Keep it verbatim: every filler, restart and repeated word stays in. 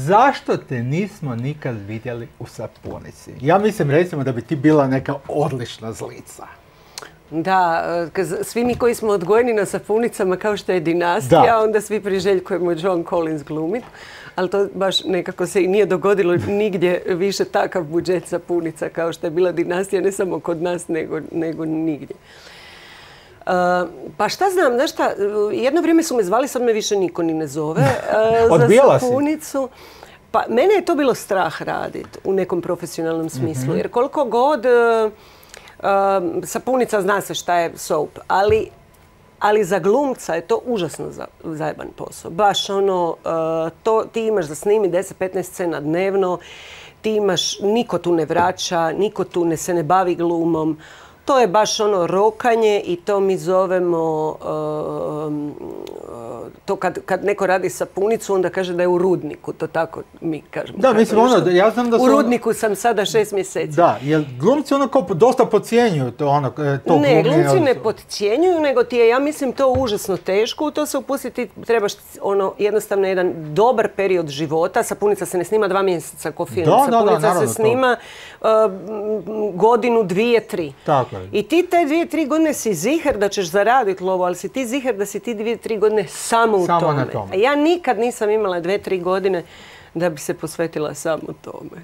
zašto te nismo nikad vidjeli u sapunici? Ja mislim recimo da bi ti bila neka odlična zlica. Da, svi mi koji smo odgojeni na sapunicama kao što je Dinastija, da. Onda svi priželjkujemo Joan Collins glumit, ali to baš nekako se i nije dogodilo nigdje više takav budžet sapunica kao što je bila Dinastija, ne samo kod nas, nego, nego nigdje. Uh, pa šta znam, znaš šta, jedno vrijeme su me zvali, sad me više niko ni ne zove uh, za sapunicu. Pa mene je to bilo strah raditi u nekom profesionalnom smislu, mm-hmm. jer koliko god... Uh, Uh, sapunica zna se šta je soap, ali, ali za glumca je to užasno za, zajeban posao. Baš ono, uh, to, ti imaš za snimi deset petnaest scena dnevno, ti imaš, niko tu ne vraća, niko tu ne, se ne bavi glumom. To je baš ono rokanje i to mi zovemo, uh, to kad, kad neko radi sapunicu, onda kaže da je u rudniku, to tako mi kažemo. Da, mislim ono, ja znam da su... U rudniku sam sada šest mjeseci. Da, jer glumci ono kao dosta podcjenjuju to ono, to Ne, glumci ne podcjenjuju, nego ti je, ja mislim, to užasno teško. U to se upustiti trebaš ono, jednostavno jedan dobar period života. Sapunica se ne snima dva mjeseca ko film. Da, Sapunica da, da, se snima uh, godinu, dvije, tri. Tako. I ti te dvije, tri godine si ziher da ćeš zaraditi lovo, ali si ti ziher da si ti dvije, tri godine samo u samo tome. Na tome. A ja nikad nisam imala dvije, tri godine da bi se posvetila samo tome.